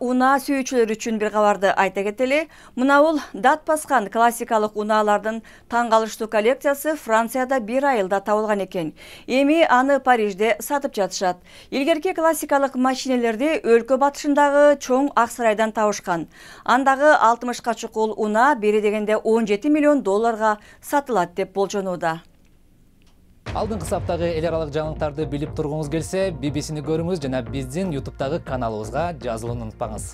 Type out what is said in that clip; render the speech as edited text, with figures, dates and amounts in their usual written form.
Унаа сүйүүчүлөр үчүн бир кабарды айта кетели. Мына дат баскан классикалык унаалардын таң калыштуу коллекциясы Францияда бир айылда табылган экен. Эми аны Парижде сатып жатышат. Илгерки классикалык машинелерди өлкө батышындагы чоң ак сарайдан табышкан. Андагы 60ка чукул унаа бери дегенде 17 миллион долларга сатылат деп болжонууда. Алдыңкы саптагы эл аралык жаңылыктарды билип тургуңуз келсе, BBC-ни көрүңүз жана биздин YouTube'дагы каналыбызга жазылууну унутпаңыз.